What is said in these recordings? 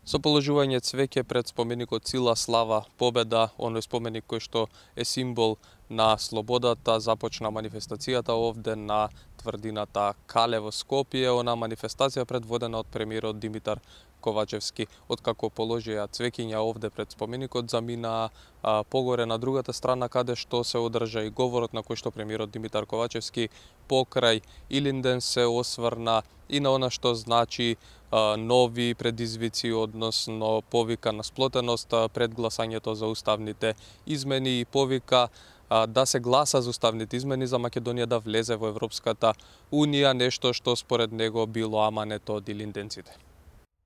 Со положување цвеќе пред споменикот Сила, слава, победа, оној споменик кој што е символ на слободата, започна манифестацијата овде на тврдината Кале во Скопје, она манифестација предводена од премиерот Димитар Ковачевски. Откако положија цвеќиња овде пред споменикот, замина погоре на другата страна, каде што се одржа и говорот на кој што премиерот Димитар Ковачевски покрај Илинден се осврна и на она што значи нови предизвици, односно повика на сплотеност пред гласањето за уставните измени и повика да се гласа за уставните измени за Македонија да влезе во Европската Унија, нешто што според него било амането од илинденците.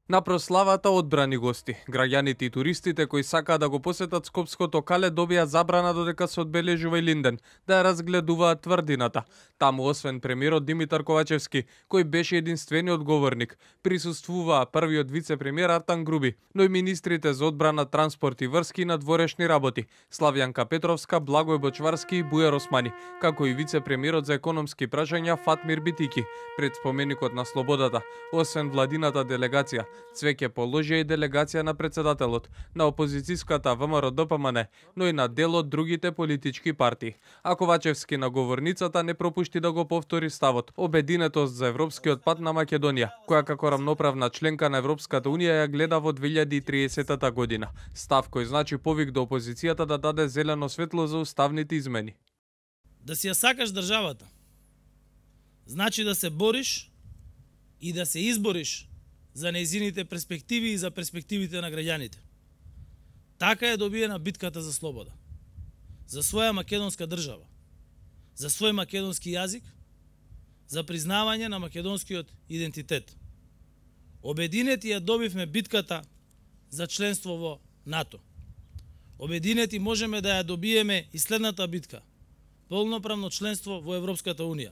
На прославата одбрани гости. Граѓаните и туристите кои сакаат да го посетат Скопското Кале добија забрана додека се одбележува Илинден, да ја разгледуваат тврдината. Таму освен премиерот Димитар Ковачевски, кој беше единствениот говорник, присуствуваа првиот вице-премиер Артан Груби, но и министрите за одбрана, транспорт и врски и надворешни работи, Славјанка Петровска, Благој Бочварски и Бујар Османи, како и вице-премиерот за економски прашања Фатмир Битики. Пред споменикот на слободата, освен владината делегација, цвеќе положија и делегација на председателот, на опозицијската ВМРО-ДПМН, но и на дел од другите политички партии. А Ковачевски на говорницата не пропушти да го повтори ставот, обединетост за европскиот пат на Македонија, која како рамноправна членка на Европската Унија ја гледа во 2030 година. Став кој значи повик до опозицијата да даде зелено светло за уставните измени. Да си ја сакаш државата, значи да се бориш и да се избориш за нејзините перспективи и за перспективите на граѓаните. Така е добиена битката за слобода. За своја македонска држава, за свој македонски јазик, за признавање на македонскиот идентитет. Обединети ја добивме битката за членство во НАТО. Обединети можеме да ја добиеме и следната битка – полноправно членство во Европската Унија.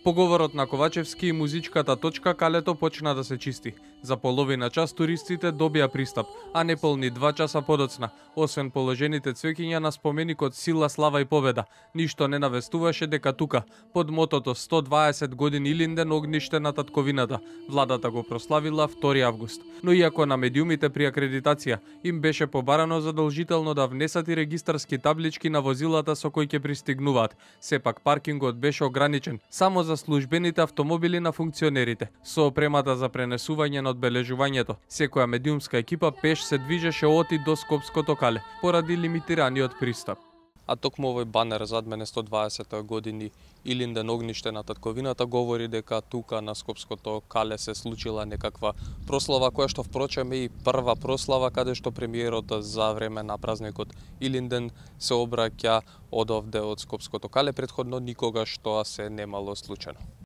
По говорот на Ковачевски и музичката точка Калето почна да се чисти. За половина час туристите добија пристап, а неполни 2 часа подоцна, освен положените цвеќиња на споменикот Сила, слава и победа, ништо не навестуваше дека тука, под мотото 120 години Илинден, огниште на татковината, владата го прославила 2 август. Но иако на медиумите при акредитација им беше побарано задолжително да внесат и регистарски таблички на возилата со кои ќе пристигнуваат, сепак паркингот беше ограничен само за службените автомобили на функционерите, со опремата за пренесување на одбележувањето. Секоја медиумска екипа пеш се движеше од и до Скопското Кале, поради лимитираниот пристап. А токму овој банер зад мене 120 години Илинден, огниште на татковината говори дека тука на Скопското Кале се случила некаква прослава, која што впрочем е и прва прослава каде што премиерот за време на празникот Илинден се обраќа од овде од Скопското Кале, претходно никогаш тоа се немало случајно.